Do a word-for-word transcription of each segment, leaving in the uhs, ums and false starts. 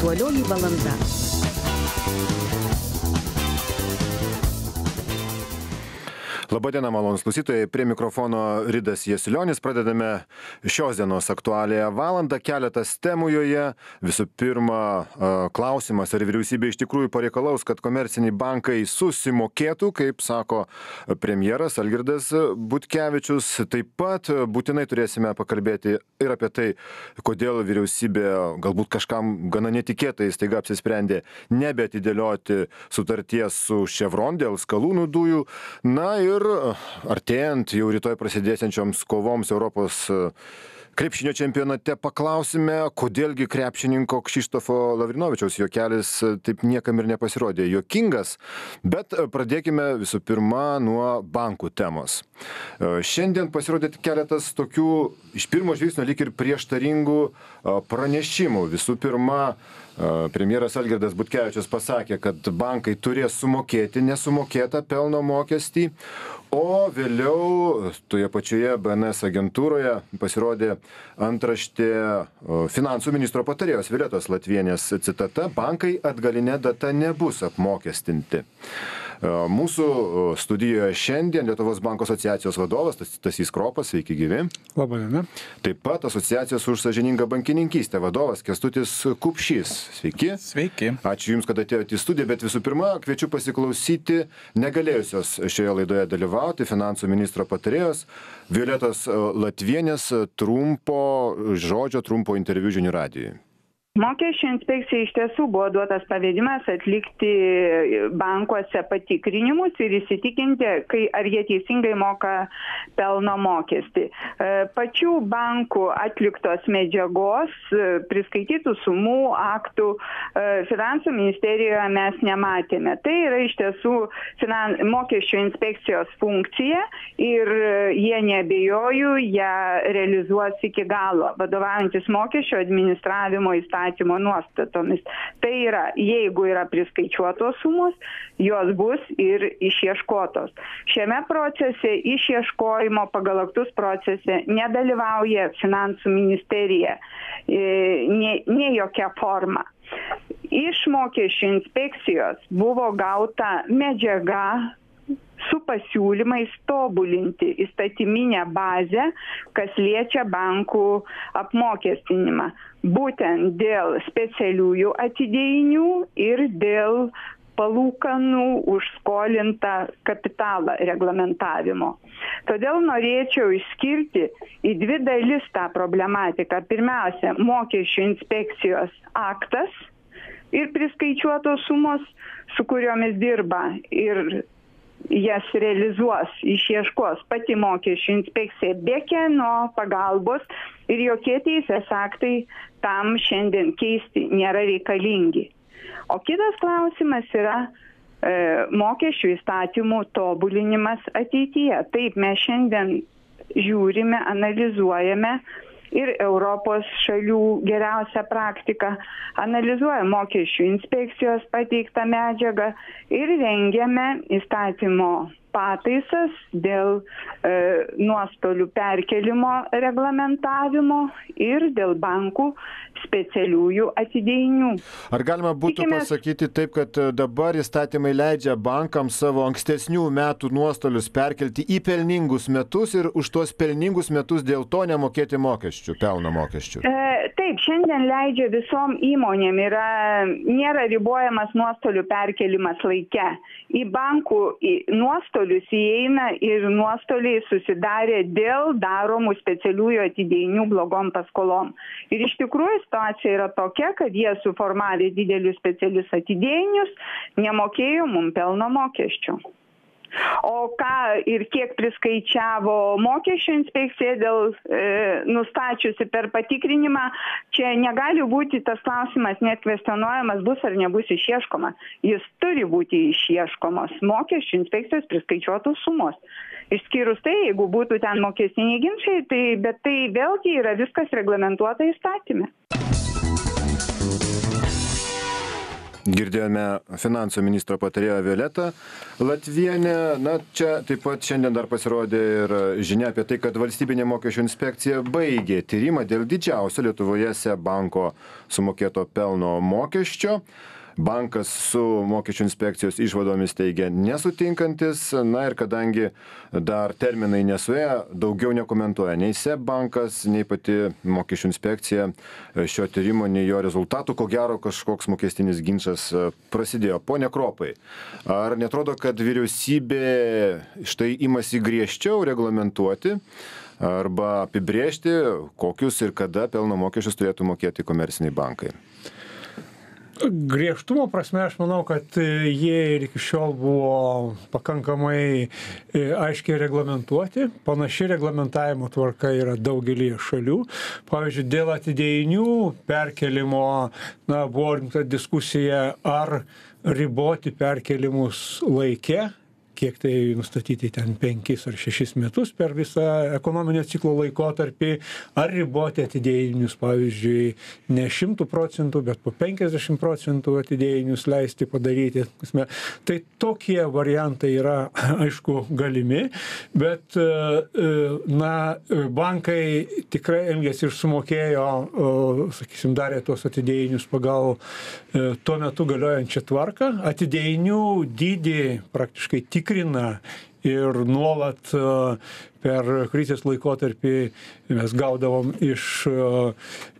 Aktualioji valanda. Labadiena, malonūs klausytojai, prie mikrofono Ridas Jasilionis. Pradedame šios dienos aktualiąją valandą. Keletas temų joje. Visų pirma, klausimas, ar vyriausybė iš tikrųjų pareikalaus, kad komerciniai bankai susimokėtų, kaip sako premjeras Algirdas Butkevičius. Taip pat būtinai turėsime pakalbėti ir apie tai, kodėl vyriausybė galbūt kažkam gana netikėtai staiga apsisprendė nebeatidėlioti sutarties su Chevron dėl skalūnų dujų. Na ir artėjant jau rytoj prasidėsiančioms kovoms Europos krepšinio čempionate paklausime, kodėlgi krepšininko Kšištofo Lavrinovičiaus juokelis taip niekam ir nepasirodė juokingas, bet pradėkime visų pirma nuo bankų temos. Šiandien pasirodė keletas tokių iš pirmo žvilgsnio lyg ir prieštaringų pranešimų. Visų pirma, premjeras Algirdas Butkevičius pasakė, kad bankai turės sumokėti nesumokėtą pelno mokestį, o vėliau toje pačioje B N S agentūroje pasirodė antraštė finansų ministro patarėjos Violetos Latvienės citata: bankai atgaline data nebus apmokestinti. Mūsų studijoje šiandien Lietuvos banko asociacijos vadovas Stasys Kropas, sveiki gyvi. Labadiena. Taip pat asociacijos už sąžiningą bankininkystę vadovas Kęstutis Kupšys. Sveiki. Sveiki. Ačiū Jums, kad atėjote į studiją, bet visų pirma, kviečiu pasiklausyti negalėjusios šioje laidoje dalyvauti finansų ministro patarėjos Violetos Latvienės trumpo žodžio, trumpo interviu žinių radijui. Mokesčių inspekcijai iš tiesų buvo duotas pavedimas atlikti bankuose patikrinimus ir įsitikinti, kai, ar jie teisingai moka pelno mokestį. Pačių bankų atliktos medžiagos, priskaitytų sumų, aktų finansų ministerijoje mes nematėme. Tai yra iš tiesų finan... mokesčių inspekcijos funkcija ir jie neabejoju, ją realizuos iki galo, vadovaujantis mokesčio administravimo įstatymų nuostatomis. Tai yra, jeigu yra priskaičiuotos sumos, jos bus ir išieškotos. Šiame procese išieškojimo pagal aktus procese nedalyvauja finansų ministerija, ne, ne jokia forma. Iš mokesčių inspekcijos buvo gauta medžiaga su pasiūlymais tobulinti įstatyminę bazę, kas liečia bankų apmokestinimą, būtent dėl specialiųjų atidėjinių ir dėl palūkanų už skolintą kapitalą reglamentavimo. Todėl norėčiau išskirti į dvi dalis tą problematiką. Pirmiausia, mokesčių inspekcijos aktas ir priskaičiuotos sumos, su kuriomis dirba ir jas realizuos, išieškos pati mokesčių inspekcija be kieno pagalbos ir jokie teisės aktai tam šiandien keisti nėra reikalingi. O kitas klausimas yra e, mokesčių įstatymų tobulinimas ateityje. Taip, mes šiandien žiūrime, analizuojame ir Europos šalių geriausią praktiką, analizuoja mokesčių inspekcijos pateiktą medžiagą ir rengiame įstatymo pataisas dėl e, nuostolių perkelimo reglamentavimo ir dėl bankų specialiųjų atidėjinių. Ar galima būtų Tikimės... pasakyti taip, kad dabar įstatymai leidžia bankams savo ankstesnių metų nuostolius perkelti į pelningus metus ir už tuos pelningus metus dėl to nemokėti mokesčių, pelno mokesčių? E, taip, šiandien leidžia visom įmonėm, yra, nėra ribojamas nuostolių perkelimas laike. Į bankų į nuostolius įeina ir nuostoliai susidarė dėl daromų specialiųjų atidėjinių blogom paskolom. Ir iš tikrųjų situacija yra tokia, kad jie suformavė didelius specialius atidėjinius, nemokėjo mum pelno mokesčių. O ką ir kiek priskaičiavo mokesčių inspekcija dėl e, nustačiusi per patikrinimą, čia negali būti tas klausimas net kvestionuojamas, bus ar nebus išieškoma. Jis turi būti išieškomos mokesčių inspekcijos priskaičiuotos sumos. Išskyrus tai, jeigu būtų ten mokestiniai ginčiai, tai, bet tai vėlgi yra viskas reglamentuota įstatyme. Girdėjome finansų ministro patarėją Violetą Latvienę. Na, čia taip pat šiandien dar pasirodė ir žinia apie tai, kad valstybinė mokesčių inspekcija baigė tyrimą dėl didžiausio Lietuvoje SEB banko sumokėto pelno mokesčio. Bankas su mokesčių inspekcijos išvadomis teigia nesutinkantis, na ir kadangi dar terminai nesuėjo, daugiau nekomentuoja nei SEB bankas, nei pati mokesčių inspekcija šio tyrimo, nei jo rezultatų, ko gero kažkoks mokestinis ginčas prasidėjo. Pone Kropai, ar netrodo, kad vyriausybė štai imasi griežčiau reglamentuoti arba apibrėžti, kokius ir kada pelno mokesčius turėtų mokėti komerciniai bankai? Griežtumo prasme aš manau, kad jie ir iki šiol buvo pakankamai aiškiai reglamentuoti. Panaši reglamentavimo tvarka yra daugelį šalių. Pavyzdžiui, dėl atidėjinių perkelimo, na, buvo rimta diskusija, ar riboti perkelimus laike, kiek tai nustatyti ten penkis ar šešis metus per visą ekonominio ciklo laikotarpį, ar riboti atidėjinius, pavyzdžiui, ne šimtų procentų, bet po penkiasdešimt procentų atidėjinius leisti padaryti. Tai tokie variantai yra, aišku, galimi, bet, na, bankai tikrai elgėsi ir sumokėjo, sakysim, darė tuos atidėjinius pagal tuo metu galiojančią tvarką. Atidėjinių dydį praktiškai tik tikrina ir nuolat per krizės laikotarpį mes gaudavom iš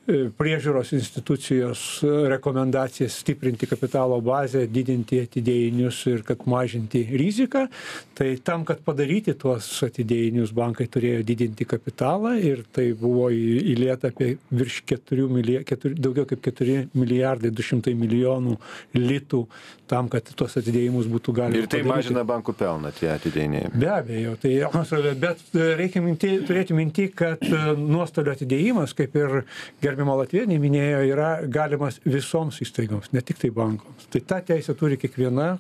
priežiūros institucijos rekomendacijas stiprinti kapitalo bazę, didinti atidėjinius ir kad mažinti riziką. Tai tam, kad padaryti tuos atidėjinius, bankai turėjo didinti kapitalą ir tai buvo įlieta apie virš keturių milijardų, daugiau kaip keturi milijardai du šimtai milijonų litų tam, kad tuos atidėjimus būtų galima ir tai padaryti. Mažina bankų pelną tie atidėjiniai. Be abejo, tai, bet reikia minti, turėti minti, kad nuostolių atidėjimas, kaip ir gerbimo Latvienė minėjo, yra galimas visoms įstaigoms, ne tik tai bankoms. Tai tą teisę turi kiekviena,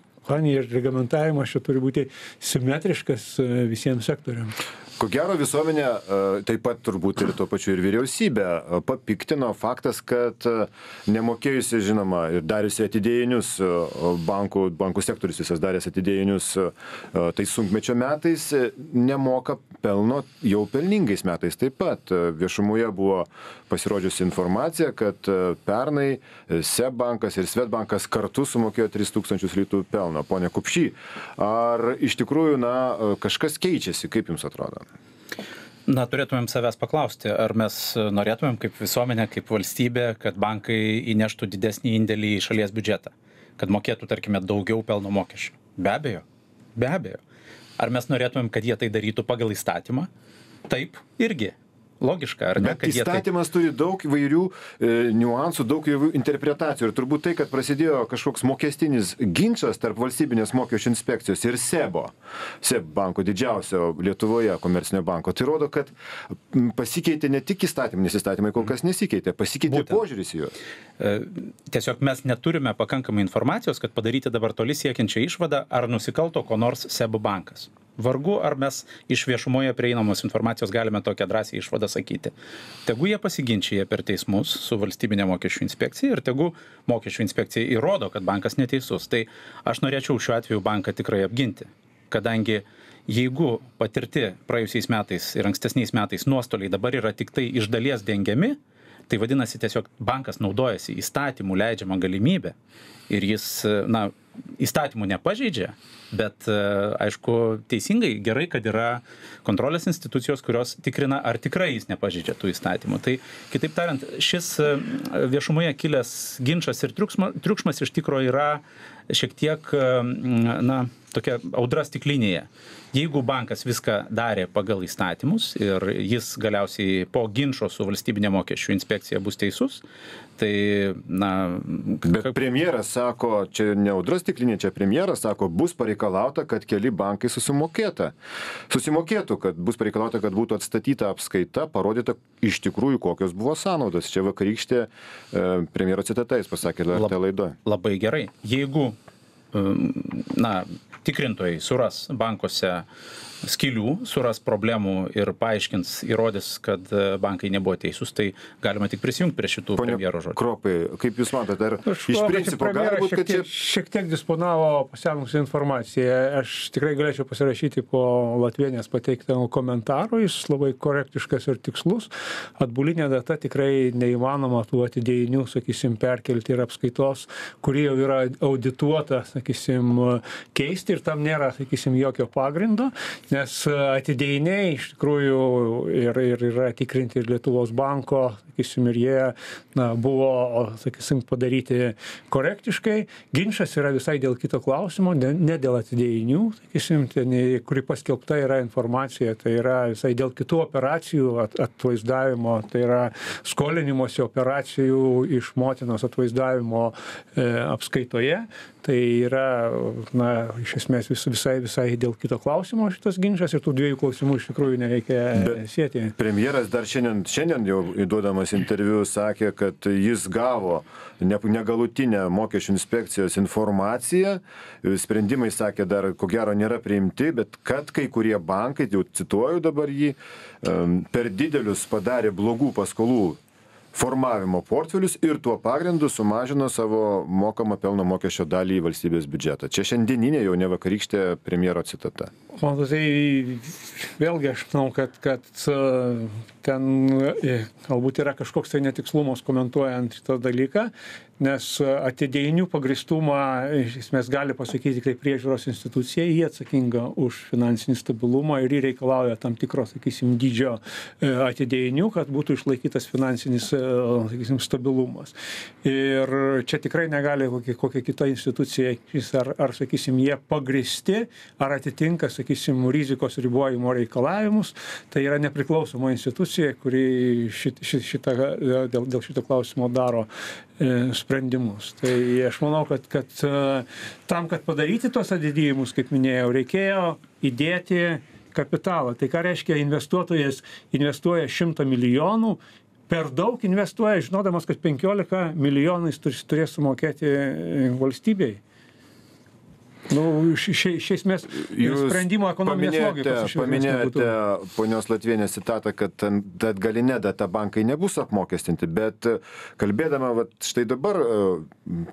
ir reglamentavimas čia turi būti simetriškas visiems sektoriams. Ko gero visuomenė, taip pat turbūt ir tuo pačiu ir vyriausybė, papiktino faktas, kad nemokėjusi, žinoma, ir dariusi atidėjinius, bankų, bankų sektorius visas daręs atidėjinius tai sunkmečio metais, nemoka pelno jau pelningais metais. Taip pat viešumoje buvo pasirodžiusi informacija, kad pernai SEB bankas ir Swedbankas kartu sumokėjo tris tūkstančius litų pelno. Pone Kupšy, ar iš tikrųjų, na, kažkas keičiasi, kaip jums atrodo? Na, turėtumėm savęs paklausti, ar mes norėtumėm kaip visuomenė, kaip valstybė, kad bankai įneštų didesnį indėlį į šalies biudžetą, kad mokėtų, tarkime, daugiau pelno mokesčių. Be abejo, be abejo. Ar mes norėtumėm, kad jie tai darytų pagal įstatymą? Taip, irgi. Logiška, ar ne? Bet įstatymas tai... turi daug įvairių e, niuansų, daug įvairių interpretacijų. Ir turbūt tai, kad prasidėjo kažkoks mokestinis ginčas tarp valstybinės mokesčių inspekcijos ir SEBO, SEB banko, didžiausio Lietuvoje komercinio banko, tai rodo, kad pasikeitė ne tik įstatymai, nes įstatymai kol kas nesikeitė, pasikeitė Būtent. Požiūris į juos. E, tiesiog mes neturime pakankamai informacijos, kad padaryti dabar toli siekiančią išvadą, ar nusikalto ko nors SEB bankas. Vargu, ar mes iš viešumoje prieinamos informacijos galime tokią drąsią išvadą sakyti. Tegu jie pasiginčia per teismus su valstybinė mokesčių inspekcija ir tegu mokesčių inspekcija įrodo, kad bankas neteisus. Tai aš norėčiau šiuo atveju banką tikrai apginti, kadangi jeigu patirti praėjusiais metais ir ankstesniais metais nuostoliai dabar yra tik tai iš dalies dengiami, tai vadinasi tiesiog bankas naudojasi įstatymų leidžiamą galimybę ir jis, na, įstatymų nepažeidžia, bet, aišku, teisingai, gerai, kad yra kontrolės institucijos, kurios tikrina, ar tikrai jis nepažeidžia tų įstatymų. Tai, kitaip tariant, šis viešumoje kilęs ginčas ir triukšmas, triukšmas iš tikro yra šiek tiek, na, tokia audra stiklinėje. Jeigu bankas viską darė pagal įstatymus ir jis galiausiai po ginčo su valstybinė mokesčių inspekcija bus teisus, tai, na... Bet premjeras sako, čia ne audra stiklinė, čia premjeras sako, bus pareikalauta, kad keli bankai susimokėta. Susimokėtų, kad bus pareikalauta, kad būtų atstatyta apskaita, parodyta iš tikrųjų, kokios buvo sąnaudos. Čia vakarykštė e, premjero citata, jis pasakė L R T laidoje. Labai gerai. Jeigu, na, tikrintojai suras bankuose skylių, suras problemų ir paaiškins, įrodys, kad bankai nebuvo teisūs, tai galima tik prisijungti prie šitų premjero žodžių. Kropai, kaip Jūs matote, ar Aš iš manau, kad principo gali premjeras būt, šiek kad čia... tiek, šiek tiek disponavo pasenusią informaciją. Aš tikrai galėčiau pasirašyti po Latvienės pateiktą komentarų, jis labai korektiškas ir tikslus. Atbulinė data tikrai neįmanoma tų atidėjinių, sakysim, perkelti ir apskaitos, kuri jau yra audituota, sakysim, keisti ir tam nėra, sakysim, jokio pagrindo. Nes atidėjiniai iš tikrųjų ir, ir yra tikrinti ir Lietuvos banko, sakysim, ir jie na, buvo, sakysim, padaryti korektiškai. Ginčas yra visai dėl kito klausimo, ne, ne dėl atidėjinių, sakysim, ten, kuri paskelbta yra informacija, tai yra visai dėl kitų operacijų at, atvaizdavimo, tai yra skolinimosi operacijų iš motinos atvaizdavimo e, apskaitoje. Tai yra, na, iš esmės vis, visai, visai dėl kito klausimo šitas ginčas ir tų dviejų klausimų iš tikrųjų nereikia Bet sėti. Premjeras dar šiandien, šiandien jau įduodamas interviu sakė, kad jis gavo negalutinę mokesčių inspekcijos informaciją. Sprendimai, sakė, dar ko gero nėra priimti, bet kad kai kurie bankai, jau cituoju dabar jį, per didelius padarė blogų paskolų formavimo portfelius ir tuo pagrindu sumažino savo mokamą pelno mokesčio dalį į valstybės biudžetą. Čia šiandieninė jau ne vakarykštė premjero citata. Man tai vėlgi aš manau, kad, kad ten galbūt yra kažkoks tai netikslumas komentuojant šitą dalyką, nes atidėjinių pagrįstumą iš esmės gali pasakyti kaip priežiūros institucija, jie atsakinga už finansinį stabilumą ir jie reikalauja tam tikro, sakysim, dydžio atidėjinių, kad būtų išlaikytas finansinis, sakysim, stabilumas. Ir čia tikrai negali kokia, kokia kita institucija, ar, ar, sakysim, jie pagrįsti, ar atitinka, sakysim, rizikos ribojimo reikalavimus. Tai yra nepriklausoma institucija, kuri šit, šit, šitą, dėl, dėl šito klausimo daro e, sprendimus. Tai aš manau, kad, kad tam, kad padaryti tos atidėjimus, kaip minėjau, reikėjo įdėti kapitalą. Tai ką reiškia investuotojas investuoja šimtą milijonų, per daug investuoja, žinodamas, kad penkiolika milijonais turės sumokėti valstybei. Nu, iš esmės sprendimo ekonominės logikos. Paminėjote ponios Latvienės citatą, kad atgalinė data bankai nebus apmokestinti, bet kalbėdama vat, štai dabar,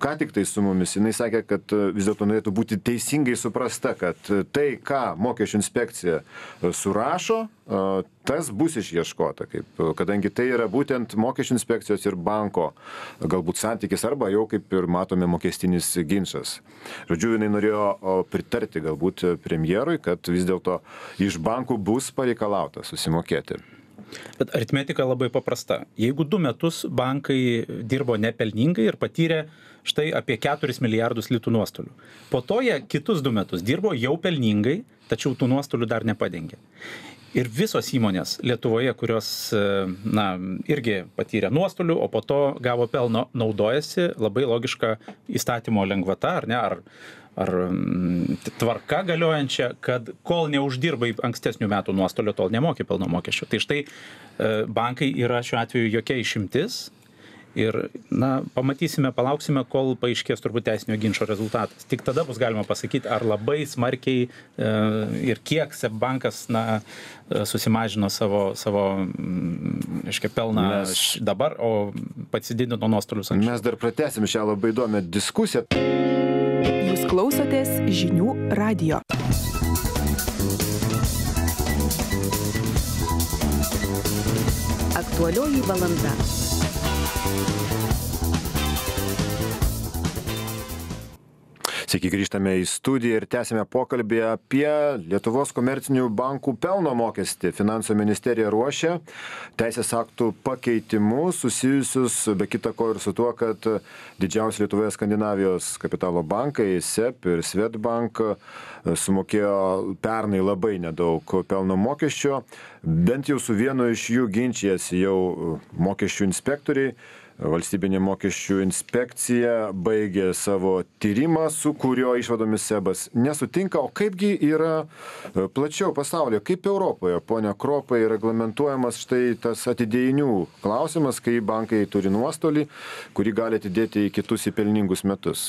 ką tik tai su mumis, jinai sakė, kad vis dėlto norėtų būti teisingai suprasta, kad tai, ką mokesčių inspekcija surašo, tas bus išieškota, kaip, kadangi tai yra būtent mokesčių inspekcijos ir banko galbūt santykis arba jau kaip ir matome mokestinis ginčas. Žodžiu, jinai norėjo pritarti galbūt premjerui, kad vis dėlto iš bankų bus pareikalauta susimokėti. Bet aritmetika labai paprasta. Jeigu du metus bankai dirbo nepelningai ir patyrė štai apie keturis milijardus litų nuostolių. Po to jie kitus du metus dirbo jau pelningai, tačiau tų nuostolių dar nepadengė. Ir visos įmonės Lietuvoje, kurios, na, irgi patyrė nuostolių, o po to gavo pelno, naudojasi labai logiška įstatymo lengvata, ar ne, ar, ar tvarka galiojančia, kad kol neuždirbai ankstesnių metų nuostolio, tol nemokė pelno mokesčio. Tai štai bankai yra šiuo atveju jokia išimtis. Ir, na, pamatysime, palauksime, kol paaiškės turbūt teisinio ginčo rezultatas. Tik tada bus galima pasakyti, ar labai smarkiai e, ir kiek SEB bankas, na, susimažino savo, savo reiškia, pelną mes, dabar, o pasididino nuostolius anksčiau. Mes dar pratęsim šią labai įdomią diskusiją. Jūs klausotės žinių radijo. Aktualioji valanda. Sveiki, grįžtame į studiją ir tęsime pokalbį apie Lietuvos komercinių bankų pelno mokestį. Finansų ministerija ruošia teisės aktų pakeitimus susijusius be kita ko ir su tuo, kad didžiausi Lietuvoje Skandinavijos kapitalo bankai, SEB ir Swedbank, sumokėjo pernai labai nedaug pelno mokesčio. Bent jau su vienu iš jų ginčijasi jau mokesčių inspektoriai. Valstybinė mokesčių inspekcija baigė savo tyrimą, su kurio išvadomis SEBas nesutinka. O kaipgi yra plačiau pasaulyje, kaip Europoje, ponia Kropai, reglamentuojamas štai tas atidėjinių klausimas, kai bankai turi nuostolį, kurį gali atidėti į kitus į pelningus metus?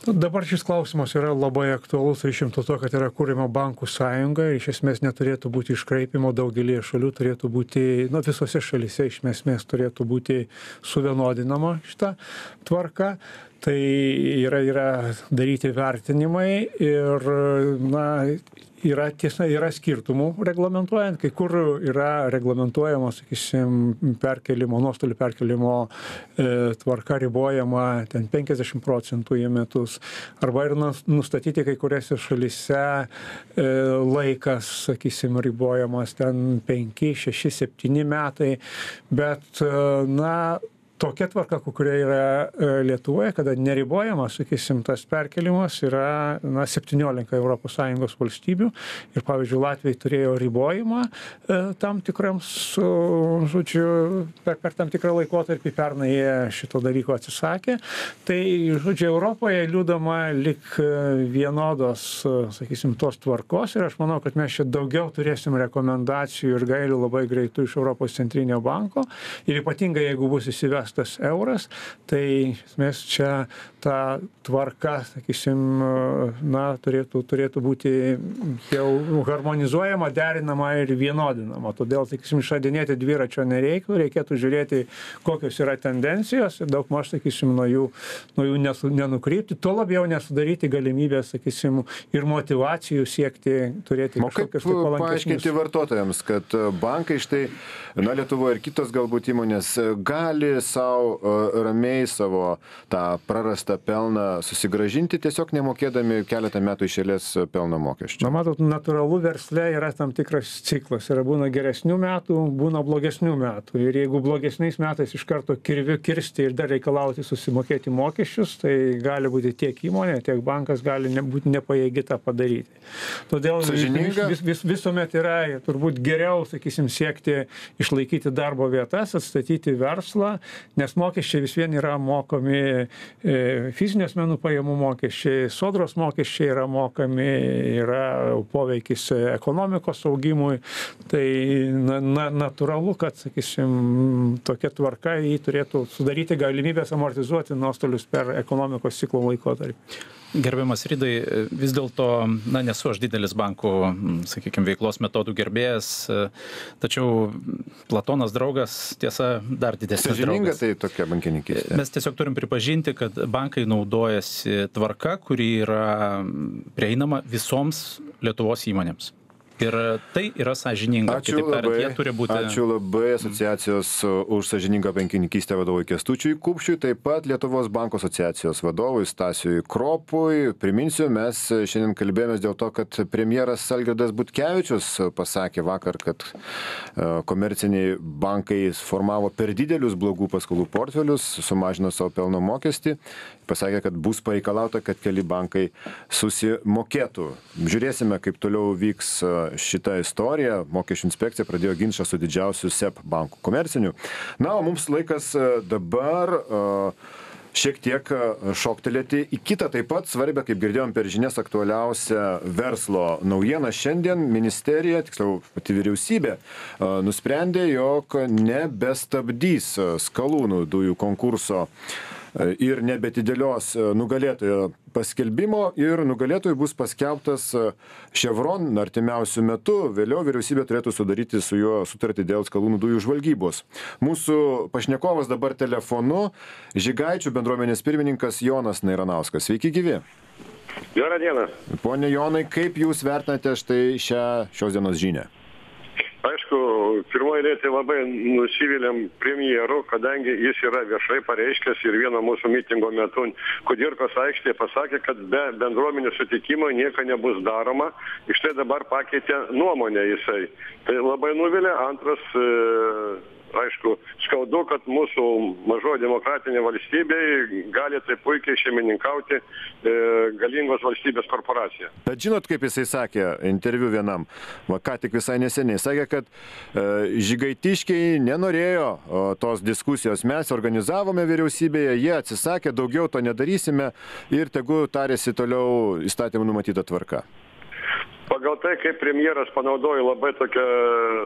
Dabar šis klausimas yra labai aktualus ryšim to, kad yra kūrima bankų sąjunga ir iš esmės neturėtų būti iškraipimo, daugelį šalių turėtų būti, nu, visose šalyse iš esmės turėtų būti suvienodinama šita tvarka. Tai yra, yra daryti vertinimai ir, na, yra tiesa, yra skirtumų reglamentuojant, kai kur yra reglamentuojama, sakysim, perkelimo, nuostolių perkelimo e, tvarka ribojama ten penkiasdešimt procentų į metus, arba ir nustatyti kai kuriuose šalyse e, laikas, sakysim, ribojamas ten penki, šeši, septyni metai, bet, na, tokia tvarka, kuria yra Lietuvoje, kada neribojamas, sakysim, tas perkelimas yra, na, septyniolika Europos Sąjungos valstybių ir, pavyzdžiui, Latvijai turėjo ribojimą e, tam tikrams, žodžiu, per, per tam tikrą laikotarpį, pernai jie šito dalyko atsisakė. Tai, žodžiu, Europoje liūdama lik vienodos, sakysim, tos tvarkos ir aš manau, kad mes čia daugiau turėsim rekomendacijų ir gairių labai greitų iš Europos centrinio banko ir ypatingai, jeigu bus įsivestas tas euras, tai mes čia ta tvarka, sakysim, na, turėtų, turėtų būti jau harmonizuojama, derinama ir vienodinama. Todėl, sakysim, išradinėti dviračio nereiktų, reikėtų žiūrėti, kokios yra tendencijos ir daug maž, sakysim, nuo jų, nuo jų nesu, nenukrypti, tuo labiau nesudaryti galimybės, sakysim, ir motivacijų siekti turėti kažkokius tai palankesnius. Paaiškinti vartotojams, kad bankai štai, na, Lietuvoje ir kitos galbūt įmonės gali sau ramiai savo tą prarastą pelną susigrąžinti, tiesiog nemokėdami keletą metų iš eilės pelno mokesčių. Na, matot, natūralu versle yra tam tikras ciklas. Yra būna geresnių metų, būna blogesnių metų. Ir jeigu blogesniais metais iš karto kirviu kirsti ir dar reikalauti susimokėti mokesčius, tai gali būti tiek įmonė, tiek bankas gali būti nepajėgi tą padaryti. Todėl vis, vis, vis, visuomet yra turbūt geriau, sakysim, siekti išlaikyti darbo vietas, atstatyti verslą, nes mokesčiai vis vien yra mokomi, e, fizinių asmenų pajamų mokesčiai, sodros mokesčiai yra mokami, yra poveikis ekonomikos augimui, tai na, na, natūralu, kad, sakysim, tokia tvarka jį turėtų sudaryti galimybės amortizuoti nuostolius per ekonomikos ciklo laikotarpį. Gerbiamas Ridai, vis dėlto, na, nesu aš didelis bankų, sakykime, veiklos metodų gerbėjas, tačiau Platonas draugas, tiesa, dar didesnis draugas. Sąžininga tai tokia bankininkystė. Mes tiesiog turim pripažinti, kad bankai naudojasi tvarka, kuri yra prieinama visoms Lietuvos įmonėms. Ir tai yra sąžininga. Ačiū labai, turi būti... ačiū labai asociacijos už sąžiningą bankininkystę vadovui Kęstučiui Kupšiui, taip pat Lietuvos banko asociacijos vadovui Stasiui Kropui. Priminsiu, mes šiandien kalbėjomės dėl to, kad premjeras Algirdas Butkevičius pasakė vakar, kad komerciniai bankai formavo per didelius blogų paskolų portfelius, sumažino savo pelno mokestį, pasakė, kad bus pareikalauta, kad keli bankai susimokėtų. Žiūrėsime, kaip toliau vyks šitą istoriją. Mokesčių inspekcija pradėjo ginčą su didžiausiu S E B banku komerciniu. Na, o mums laikas dabar šiek tiek šoktelėti į kitą taip pat svarbią, kaip girdėjom per žinias, aktualiausią verslo naujieną. Šiandien ministerija, tiksliau pati vyriausybė, nusprendė, jog nebestabdys skalūnų dujų konkurso ir nebetidėlios nugalėtojo paskelbimo ir nugalėtojui bus paskelbtas Chevron artimiausių metų. Vėliau vyriausybė turėtų sudaryti su juo sutartį dėl skalūnų dujų žvalgybos. Mūsų pašnekovas dabar telefonu Žygaičių bendruomenės pirmininkas Jonas Nairanauskas. Sveiki gyvi. Gerą dieną. Pone Jonai, kaip jūs vertinate štai šią šios dienos žinią? Aišku, pirmoji eilė labai nusivylėm premjeru, kadangi jis yra viešai pareiškęs ir vieno mūsų mitingo metu Kudirkos aikštėje pasakė, kad be bendruomenių sutikimo nieko nebus daroma. Iš tai dabar pakeitė nuomonę jisai. Tai labai nuvilė. Antras, e, aišku, skaudu, kad mūsų mažoji demokratinė valstybė gali taip puikiai šeimininkauti e, galingos valstybės korporacija. Bet žinot, kaip jisai sakė interviu vienam, va, ką tik visai neseniai, sakė, kad e, žygaitiškiai nenorėjo o, tos diskusijos. Mes organizavome vyriausybėje, jie atsisakė, daugiau to nedarysime ir tegu tarėsi toliau įstatymų numatyta tvarka. pagal tai, kaip premjeras panaudojo labai tokią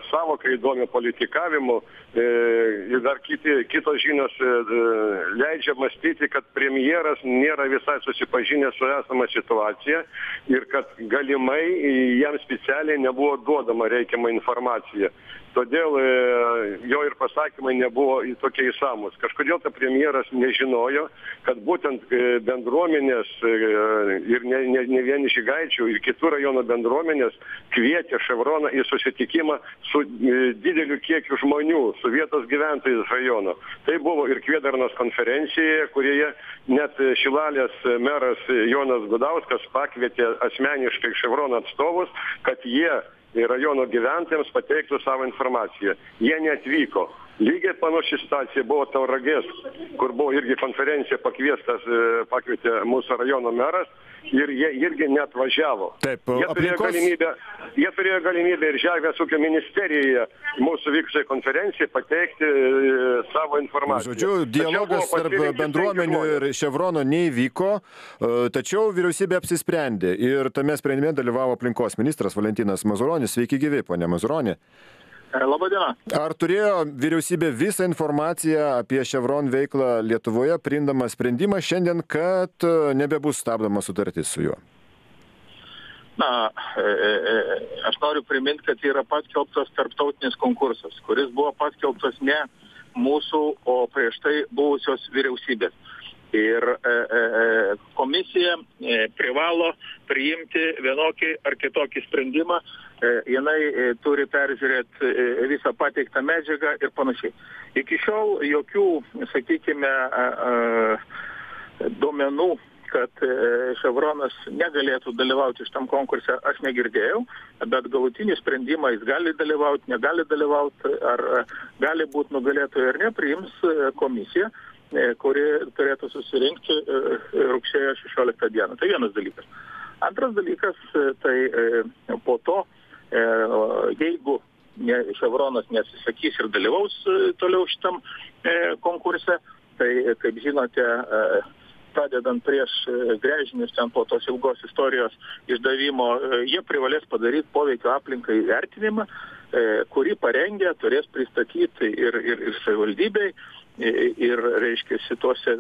savoką įdomią politikavimu, e, ir dar kiti, kitos žinios e, leidžia mąstyti, kad premjeras nėra visai susipažinęs su esama situacija ir kad galimai jam specialiai nebuvo duodama reikiama informacija. Todėl e, jo ir pasakymai nebuvo tokie įsamus. Kažkodėl ta premjeras nežinojo, kad būtent e, bendruomenės e, ir ne, ne, ne vien Žygaičių ir kitų rajono bendruomenės kvietė Ševroną į susitikimą su e, dideliu kiekiu žmonių, su vietos gyventojais rajono. Tai buvo ir Kvėdarnos konferencijoje, kurioje net Šilalės meras Jonas Gudauskas pakvietė asmeniškai Ševrono atstovus, kad jie rajono gyventojams pateiktų savo informaciją. Jie neatvyko. Lygiai panaši situacija buvo Tauragės, kur buvo irgi konferencija pakviestas, pakvietė mūsų rajono meras ir jie irgi neatvažiavo. Taip, jie, turėjo aplinkos... galimybę, jie turėjo galimybę ir Žemės ūkio ministerijoje mūsų vykusiai konferencijai pateikti savo informaciją. Žodžiu, dialogas tarp bendruomenių ir Ševrono neįvyko, tačiau vyriausybė apsisprendė ir tame sprendime dalyvavo aplinkos ministras Valentinas Mazuronis. Sveiki gyvi, ponia Mazuroni. Labadiena. Ar turėjo vyriausybė visą informaciją apie Chevron veiklą Lietuvoje, priimdama sprendimą šiandien, kad nebebus stabdoma sutartis su juo? Na, e, e, aš noriu priminti, kad yra paskelbtas tarptautinis konkursas, kuris buvo paskelbtas ne mūsų, o prieš tai buvusios vyriausybės. Ir e, e, komisija e, privalo priimti vienokį ar kitokį sprendimą, e, jinai e, turi peržiūrėti e, visą pateiktą medžiagą ir panašiai. Iki šiol jokių, sakykime, e, e, duomenų, kad e, Chevronas negalėtų dalyvauti šitam konkurse, aš negirdėjau, bet galutinį sprendimą jis gali dalyvauti, negali dalyvauti, ar gali būti nugalėtojai ar ne, priims komisija, kuri turėtų susirinkti rugsėjo šešioliktą dieną. Tai vienas dalykas. Antras dalykas, tai po to, jeigu Chevronas nesisakys ir dalyvaus toliau šitam konkurse, tai, kaip žinote, pradedant prieš gręžinius ten po tos ilgos istorijos išdavimo, jie privalės padaryti poveikio aplinkai vertinimą, kurį parengę turės pristatyti ir, ir, ir savivaldybei, ir, reiškia, situose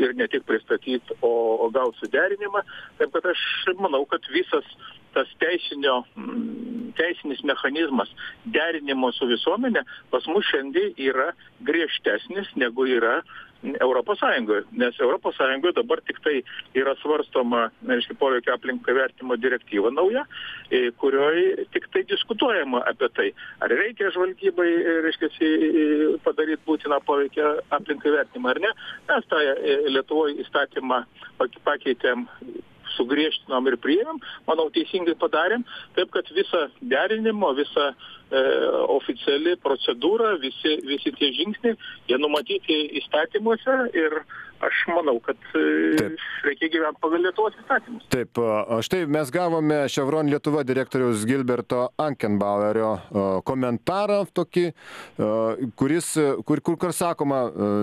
ir ne tik pristatyti, o, o gal suderinimą. Taip kad aš manau, kad visas tas teisinio, teisinis mechanizmas derinimo su visuomenė pas mus šiandien yra griežtesnis negu yra Europos Sąjungoje, nes Europos Sąjungoje dabar tik tai yra svarstoma, reiškia, poveikio aplinkai vertimo direktyva nauja, kurioje tik tai diskutuojama apie tai, ar reikia žvalgybai, reiškia, padaryti būtiną poveikio aplinkai vertimą ar ne. Mes tą Lietuvoje įstatymą pakeitėm, sugriežtinom ir priėmėm, manau, teisingai padarėm, taip kad visa derinimo, visa e, oficiali procedūra, visi, visi tie žingsniai, jie numatyti įstatymuose ir aš manau, kad e, reikia gyventi pagal Lietuvos įstatymus. Taip, štai mes gavome Chevron Lietuva direktoriaus Gilberto Ankenbauerio komentarą tokį, kuris, kur, kur, kur sakoma,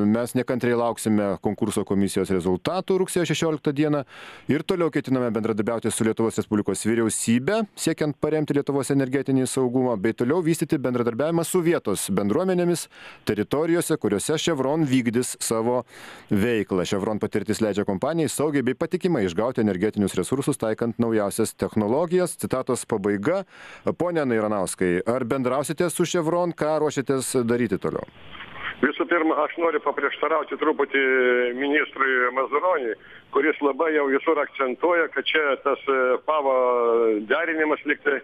mes nekantriai lauksime konkurso komisijos rezultatų rugsėjo šešioliktą dieną ir toliau ketiname bendradarbiauti su Lietuvos Respublikos vyriausybe, siekiant paremti Lietuvos energetinį saugumą, bei toliau vystyti bendradarbiavimą su vietos bendruomenėmis teritorijose, kuriuose Chevron vykdys savo veiklą. Chevron patirtis leidžia kompanijai saugiai bei patikimai išgauti energetinius resursus, taikant naujausias technologijas. Citatos pabaiga. Pone Nairanauskai, ar bendrausite su Chevron, ką ruošiatės daryti toliau? Visų pirma, aš noriu paprieštarauti truputį ministrui Mazuroniui, kuris labai jau visur akcentuoja, kad čia tas pavo derinimas liktai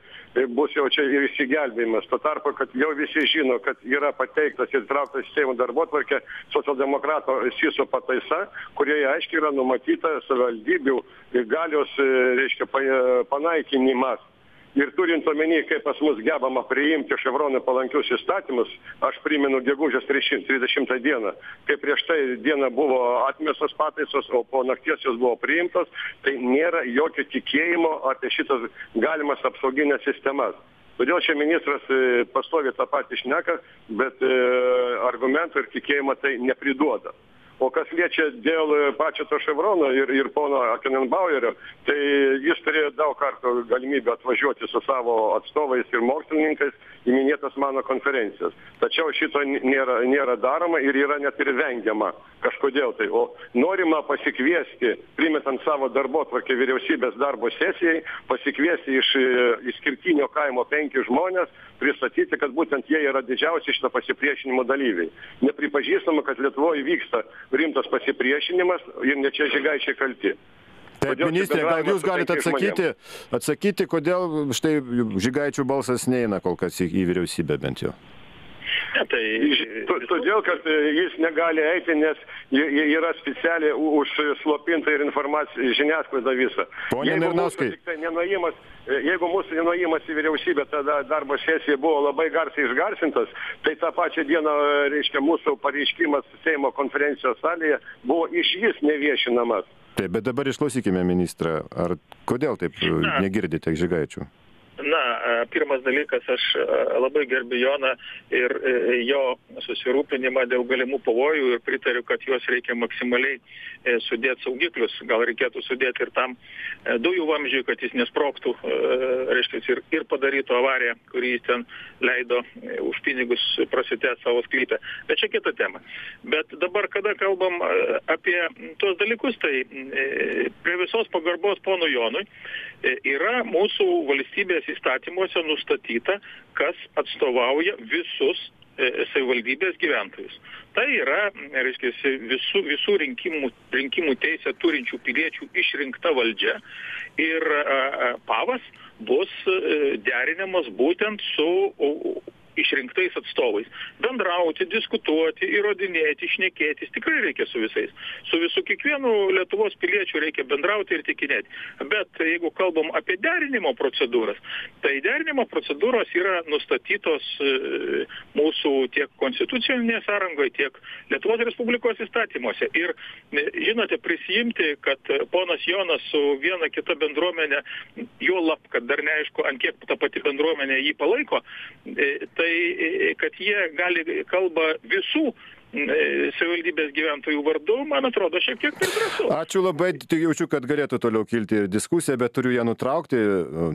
bus jau čia ir išsigelbėjimas. Tuo tarpu, kad jau visi žino, kad yra pateiktas ir trauktas Seimo darbotvarkė socialdemokrato Syso pataisa, kurioje aiškiai yra numatyta savivaldybių galios, reiškia, panaikinimas. Ir turint omeny, kaip pas mus gebama priimti Chevronui palankius įstatymus, aš primenu gegužės trisdešimtą dieną, kai prieš tai dieną buvo atmestos pataisos, o po nakties jos buvo priimtos, tai nėra jokio tikėjimo apie šitas galimas apsauginės sistemas. Todėl čia ministras pastovi tą patį šneka, bet argumentų ir tikėjimo tai nepriduoda. O kas liečia dėl pačio to Chevrono ir, ir pono Ankenbauerio, tai jis turėjo daug kartų galimybę atvažiuoti su savo atstovais ir mokslininkais į minėtas mano konferencijas. Tačiau šito nėra, nėra daroma ir yra net ir vengiama kažkodėl tai. O norima pasikviesti, primetant savo darbotvarkę vyriausybės darbo sesijai, pasikviesti iš išskirtinio kaimo penkis žmonės, pristatyti, kad būtent jie yra didžiausi šito pasipriešinimo dalyviai. Nepripažįstama, kad Lietuvoje vyksta rimtas pasipriešinimas ir ne čia Žygaičiai kalti. Taip, ministrė, gal jūs galite atsakyti, atsakyti, kodėl štai Žygaičių balsas neina kol kas į, į vyriausybę bent jau? Ne, tai todėl, kad jis negali eiti, nes yra specialiai užslopinta ir informacija žiniasklaida visą. Pone Nernauskai. Jeigu mūsų nenuėjimas į vyriausybę, tada darbo sesija buvo labai garsiai išgarsintas, tai tą pačią dieną, reiškia, mūsų pareiškimas Seimo konferencijos salėje buvo išvis neviešinamas. Taip, bet dabar išklausykime ministrą. Ar kodėl taip Na. negirdite Žygaičių? Na, pirmas dalykas, aš labai gerbiu Joną ir jo susirūpinimą dėl galimų pavojų ir pritariu, kad juos reikia maksimaliai sudėti saugiklius. Gal reikėtų sudėti ir tam dujų vamzdžiui, kad jis nesprogtų, reiškia, ir, ir padarytų avariją, kurį jis ten leido už pinigus prasitęsti savo sklypę. Bet čia kita tema. Bet dabar, kada kalbam apie tuos dalykus, tai prie visos pagarbos pono Jonui yra mūsų valstybės įstatymuose nustatyta, kas atstovauja visus savivaldybės gyventojus. Tai yra, reiškia, visų, visų rinkimų, rinkimų teisę turinčių piliečių išrinkta valdžia ir pavas bus derinamas būtent su išrinktais atstovais. Bendrauti, diskutuoti, įrodinėti, šnekėtis, tikrai reikia su visais. Su visų kiekvienu Lietuvos piliečiu reikia bendrauti ir tikinėti. Bet jeigu kalbam apie derinimo procedūras, tai derinimo procedūros yra nustatytos mūsų tiek konstitucinėje sąrangoje, tiek Lietuvos Respublikos įstatymuose. Ir, žinote, prisijimti, kad ponas Jonas su viena kita bendruomenė, jo lab, kad dar neaišku, ant kiek ta pati bendruomenė jį palaiko, tai kad jie gali kalba visų savivaldybės gyventojų vardu, man atrodo, šiek tiek per drąsu. Ačiū labai, jaučiu, kad galėtų toliau kilti ir diskusija, bet turiu ją nutraukti.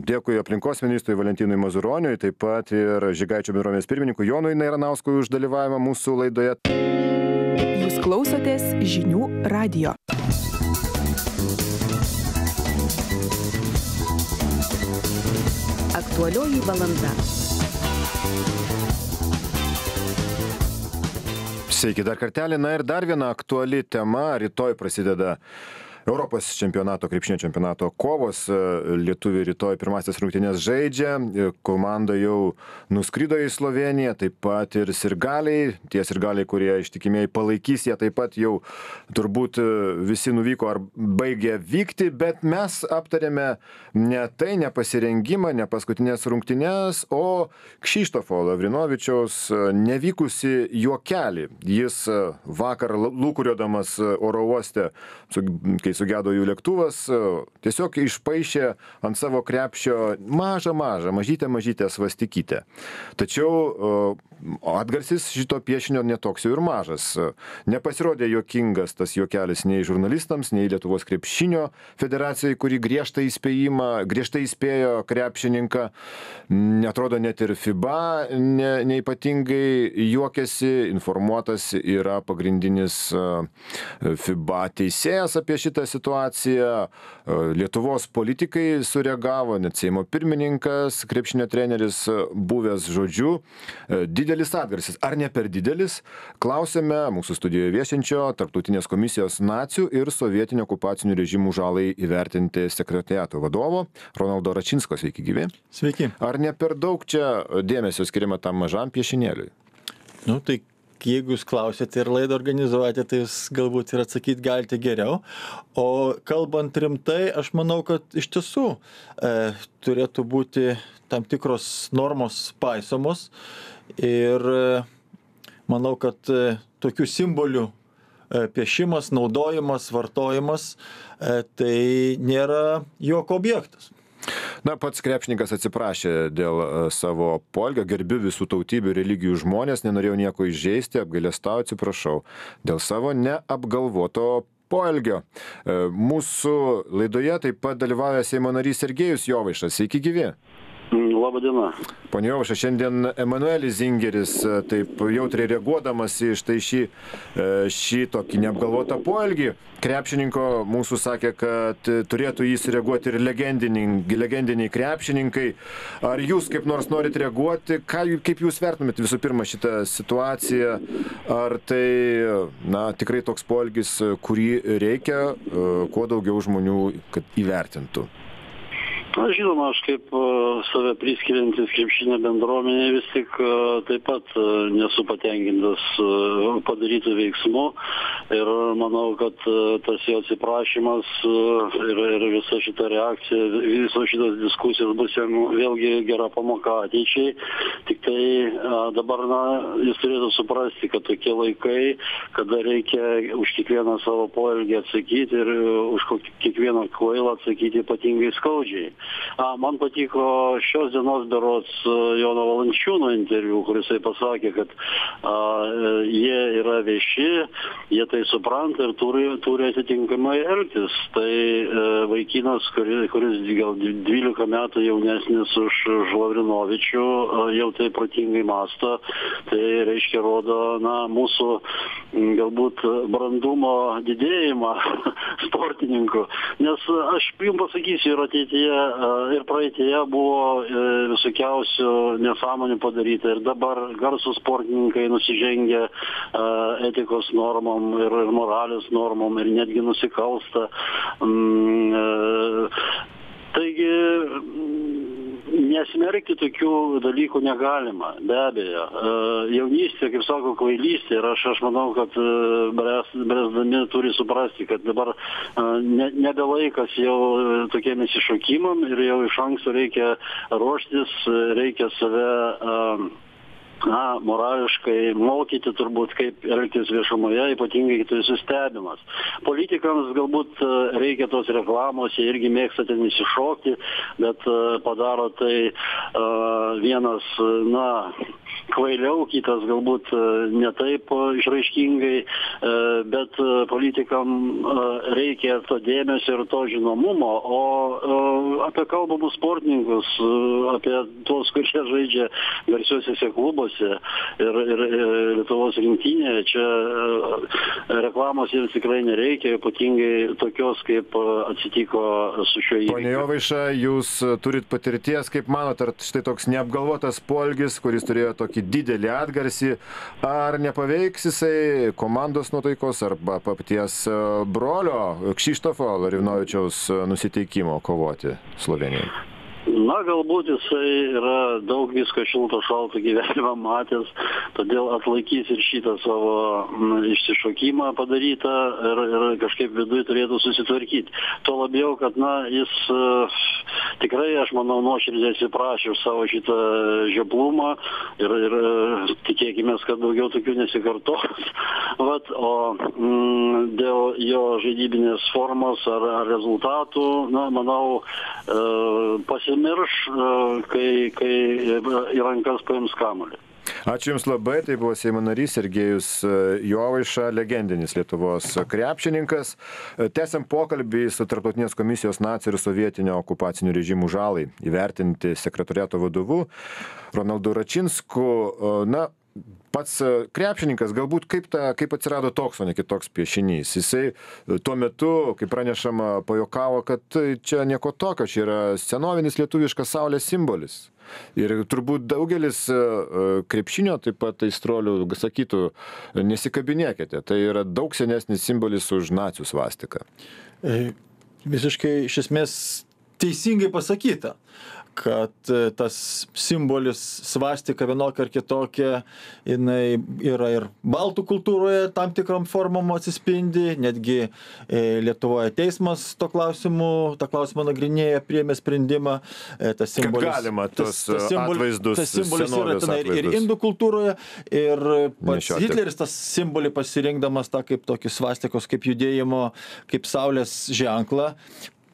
Dėkui aplinkos ministrui Valentinui Mazuroniui, taip pat ir Žygaičių bendruomenės pirmininkui Jonui Nerauskui už dalyvavimą mūsų laidoje. Jūs klausotės žinių radijo. Aktualioji valanda. Sveiki dar kartelį. Na ir dar viena aktuali tema. Rytoj prasideda Europos čempionato, krepšinio čempionato kovos. Lietuviai rytoj pirmasis rungtynes žaidžia. Komanda jau nuskrido į Slovėniją, taip pat ir sirgaliai. Tie sirgaliai, kurie ištikimiai palaikys, jie taip pat jau turbūt visi nuvyko ar baigė vykti, bet mes aptarėme ne tai, ne pasirengimą, ne paskutinės rungtynes, o Kšištofo Lavrinovičiaus nevykusi juokelį. Jis vakar lūkuriodamas oro uoste, kai sugedo jų lėktuvas, tiesiog išpaišė ant savo krepšio mažą, mažą, mažytę, mažytę svastikytę. Tačiau atgarsis šito piešinio netoks jau ir mažas. Nepasirodė juokingas tas juokelis nei žurnalistams, nei Lietuvos krepšinio federacijai, kuri griežtai įspėjimą, griežtai įspėjo krepšininką. Netrodo net ir FIBA ne, neipatingai juokėsi, informuotas yra pagrindinis FIBA teisėjas apie šitą situaciją. Lietuvos politikai sureagavo, net Seimo pirmininkas, krepšinio treneris buvęs, žodžiu. Didelis atgarsis. Ar ne per didelis? Klausėme mūsų studijoje viešinčio Tarptautinės komisijos nacių ir sovietinių okupacinių režimų žalai įvertinti sekretariato vadovo Ronaldo Račinsko. Sveiki, gyvi. Sveiki. Ar ne per daug čia dėmesio skiriama tam mažam piešinėliui? Nu, tai jeigu jūs klausėte ir laidą organizuojate, tai jūs galbūt ir atsakyti galite geriau. O kalbant rimtai, aš manau, kad iš tiesų e, turėtų būti tam tikros normos paisomos. Ir e, manau, kad e, tokių simbolių e, piešimas, naudojimas, vartojimas, e, tai nėra jokio objektas. Na, pats krepšininkas atsiprašė dėl savo poelgio, gerbiu visų tautybių, religijų žmonės, nenorėjau nieko įžeisti, apgailestauju, atsiprašau dėl savo neapgalvoto poelgio. Mūsų laidoje taip pat dalyvauja Seimo narys Sergejus Jovaiša. Sveiki gyvi. Labą dieną. Pone Jovaiša, šiandien Emanuelis Zingeris taip jautriai reaguodamas į štai šį, šį tokį neapgalvotą poelgį krepšininko mūsų sakė, kad turėtų jį sureaguoti ir legendiniai, legendiniai krepšininkai. Ar jūs kaip nors norit reaguoti? Ką, kaip jūs vertumėt visų pirma šitą situaciją? Ar tai na, tikrai toks poelgis, kurį reikia kuo daugiau žmonių, kad įvertintų? Na, žinoma, aš kaip uh, save priskiriantis krepšinio bendruomenė vis tik uh, taip pat uh, nesu patenkintas uh, padarytų veiksmų ir manau, kad uh, tas jo atsiprašymas uh, ir, ir visa šita reakcija, visos šitos diskusijos bus jam vėlgi gera pamoka ateičiai. Tik tai uh, dabar na, jis turėtų suprasti, kad tokie laikai, kada reikia už kiekvieną savo poelgį atsakyti ir uh, už kiekvieną kvailą atsakyti ypatingai skaudžiai. A, man patiko šios dienos berods Jono Valančiūno interviu, kuris pasakė, kad a, jie yra vieši, jie tai supranta ir turi, turi atitinkamai elgtis. Tai e, vaikinas, kuris, kuris gal dvylika metų jaunesnis už Lavrinovičių, a, jau tai protingai mąsto, tai reiškia rodo na, mūsų galbūt brandumo didėjimą sportininkų. Nes aš jums pasakysiu ir ateityje ir praeitėje buvo visokiausių nesąmonių padaryta ir dabar garsūs sportininkai nusižengia etikos normom ir moralės normom ir netgi nusikalsta. Taigi nesmerkti tokių dalykų negalima, be abejo. Jaunystė, kaip sako, kvailystė ir aš, aš manau, kad bręsdami turi suprasti, kad dabar ne, nebe laikas jau tokiem įsišokimam ir jau iš anksto reikia ruoštis, reikia save na, morališkai mokyti turbūt, kaip elgtis viešumoje, ypatingai kai tu esi stebimas. Politikams galbūt reikia tos reklamos, jie irgi mėgsta ten įsišokti, bet padaro tai uh, vienas, na, kvailiau, kitas galbūt ne taip išraiškingai, bet politikam reikia to dėmesio ir to žinomumo, o apie kalbamus sportininkus, apie tuos, kurie žaidžia garsiuosiuose klubuose ir, ir, ir Lietuvos rinktinėje, čia reklamos jiems tikrai nereikia, ypatingai tokios, kaip atsitiko su šiuo įvykiu. Pone Jovaiša, jūs turit patirties, kaip manot, ar štai toks neapgalvotas poelgis, kuris turėjo tokį didelį atgarsį, ar nepaveiks jisai komandos nuotaikos arba paties brolio Kšištofo Lavrinovičiaus nusiteikimo kovoti Slovėnijai? Na, galbūt jisai yra daug visko šilto šalto gyvenimą matęs, todėl atlaikys ir šitą savo m, išsišokimą padarytą ir, ir kažkaip viduje turėtų susitvarkyti. Tuo labiau, kad na, jis uh, tikrai, aš manau, nuoširdžiai atsiprašė už savo šitą žioplumą ir, ir uh, tikėkime, kad daugiau tokių nesikartos. Vat, o mm, dėl jo žaidybinės formos ar, ar rezultatų, na, manau, uh, pasi mirš, kai, kai į rankas paims kamuolį. Ačiū Jums labai, tai buvo Seimo narys Sergejus Jovaiša, legendinis Lietuvos krepšininkas. Tęsiam pokalbį su Tarptautinės komisijos nacių ir sovietinio okupacinių režimų žalai įvertinti sekretoriato vadovu Ronaldu Račinsku. Na, pats krepšininkas, galbūt kaip, ta, kaip atsirado toks, o ne kitoks piešinys. Jisai tuo metu, kaip pranešama, pajokavo, kad čia nieko tokio, čia yra senovinis lietuviškas saulės simbolis. Ir turbūt daugelis krepšinio, taip pat aistruolių, sakytų, nesikabinėkite, tai yra daug senesnis simbolis už nacių svastiką. Visiškai iš esmės teisingai pasakyta, kad tas simbolis svastika vienokia ar kitokia, jinai yra ir baltų kultūroje tam tikrom formom atsispindi, netgi Lietuvoje teismas to klausimu, tą klausimą nagrinėja, priėmė sprendimą. Tas simbolis, kad galima tos tas, tas simbol, atvaizdus, tas simbolis yra tenai ir indų kultūroje, ir pats Hitleris tas simbolį pasirinkdamas tą kaip tokį svastikos, kaip judėjimo, kaip saulės ženklą,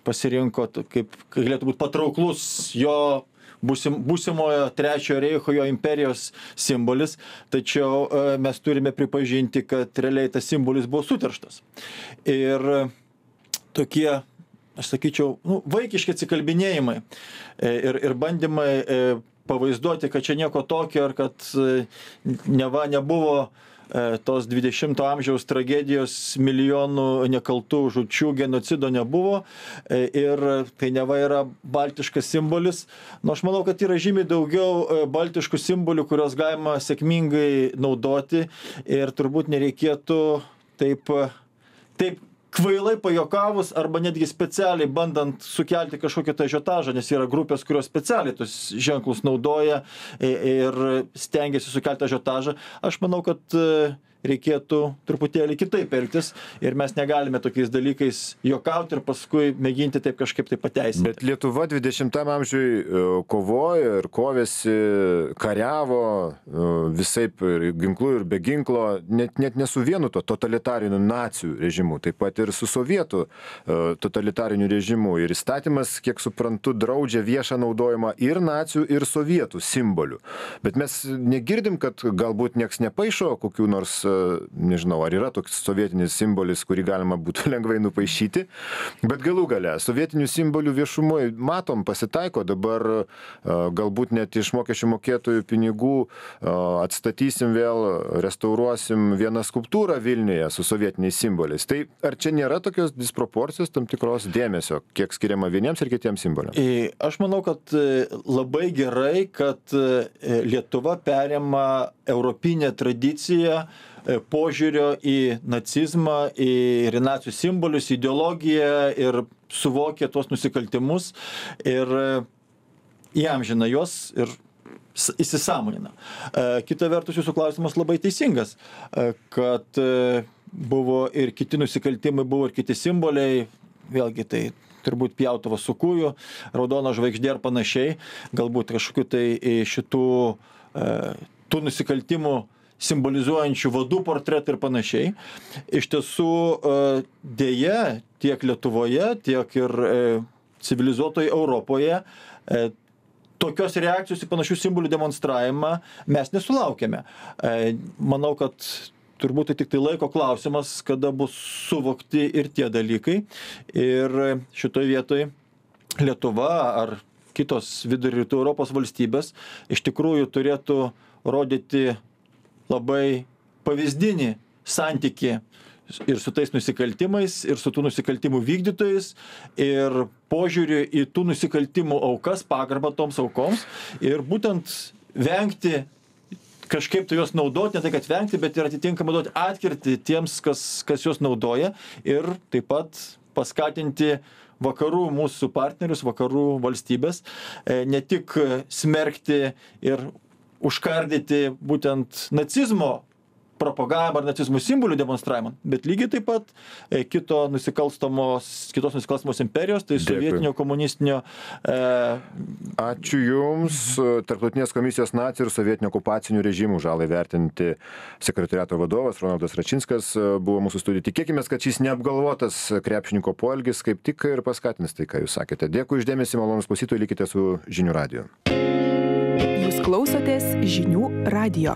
pasirinko, kaip galėtų būti patrauklus jo būsim, būsimojo trečiojo reicho, jo imperijos simbolis, tačiau mes turime pripažinti, kad realiai tas simbolis buvo suterštas. Ir tokie, aš sakyčiau, nu, vaikiški atsikalbinėjimai ir, ir bandymai pavaizduoti, kad čia nieko tokio, ar kad neva nebuvo tos dvidešimto amžiaus tragedijos, milijonų nekaltų žūčių, genocido nebuvo ir tai neva yra baltiškas simbolis. Nu, aš manau, kad yra žymiai daugiau baltiškų simbolių, kurios galima sėkmingai naudoti ir turbūt nereikėtų taip, taip kvailai pajokavus arba netgi specialiai bandant sukelti kažkokią tą ažiotažą, nes yra grupės, kurios specialiai tus ženklus naudoja ir stengiasi sukelti ažiotažą. Aš manau, kad reikėtų truputėlį kitaip elgtis ir mes negalime tokiais dalykais juokauti ir paskui mėginti taip kažkaip tai pateisinti. Bet Lietuva dvidešimtam amžiui kovojo ir kovėsi, kariavo visaip ir ginklu ir be ginklo, net, net ne su vienu to totalitariniu nacių režimu, taip pat ir su sovietų totalitariniu režimu. Ir įstatymas, kiek suprantu, draudžia viešą naudojimą ir nacių, ir sovietų simbolių. Bet mes negirdim, kad galbūt nieks nepaišo kokių nors, nežinau, ar yra toks sovietinis simbolis, kurį galima būtų lengvai nupaišyti, bet galų gale sovietinių simbolių viešumoje matom, pasitaiko, dabar galbūt net iš mokesčių mokėtojų pinigų atstatysim vėl, restauruosim vieną skulptūrą Vilniuje su sovietiniais simboliais. Tai ar čia nėra tokios disproporcijos, tam tikros dėmesio, kiek skiriama vieniems ir kitiems simboliams? Aš manau, kad labai gerai, kad Lietuva perima europinę tradiciją požiūrio į nacizmą, į nacių simbolius, ideologiją ir suvokia tuos nusikaltimus ir įamžina juos ir įsisąmonina. Kita vertus, jūsų klausimas labai teisingas, kad buvo ir kiti nusikaltimai, buvo ir kiti simboliai, vėlgi tai turbūt pjautuvas su kūju, raudona žvaigždė ir panašiai, galbūt kažkokiu tai šitų tų nusikaltimų simbolizuojančių vadų portretai ir panašiai. Iš tiesų, dėja, tiek Lietuvoje, tiek ir civilizuotoje Europoje tokios reakcijos į panašių simbolių demonstravimą mes nesulaukėme. Manau, kad turbūt tai tik tai laiko klausimas, kada bus suvokti ir tie dalykai. Ir šitoje vietoje Lietuva ar kitos vidurio rytų Europos valstybės iš tikrųjų turėtų rodyti labai pavyzdinį santykį ir su tais nusikaltimais, ir su tų nusikaltimų vykdytojais, ir požiūrį į tų nusikaltimų aukas, pagarbą toms aukoms, ir būtent vengti kažkaip tai juos naudoti, ne tai kad vengti, bet ir atitinkamai duoti atkirtį tiems, kas, kas juos naudoja, ir taip pat paskatinti vakarų mūsų partnerius, vakarų valstybės, ne tik smerkti ir užkardyti būtent nacizmo propagavimą ar nacizmo simbolių demonstravimą, bet lygiai taip pat kito nusikalstamos, kitos nusikalstamos imperijos, tai sovietinio, komunistinio. E... Ačiū Jums. Tarptautinės komisijos nacių ir sovietinio okupacinių režimų žalai vertinti sekretariato vadovas Ronaldas Račinskas buvo mūsų studijų. Tikėkime, kad šis neapgalvotas krepšininko poelgis kaip tik ir paskatins tai, ką Jūs sakėte. Dėkui už dėmesį, malonūs klausytojai, likite su Žinių radiju. Jūs klausotės Žinių radijo.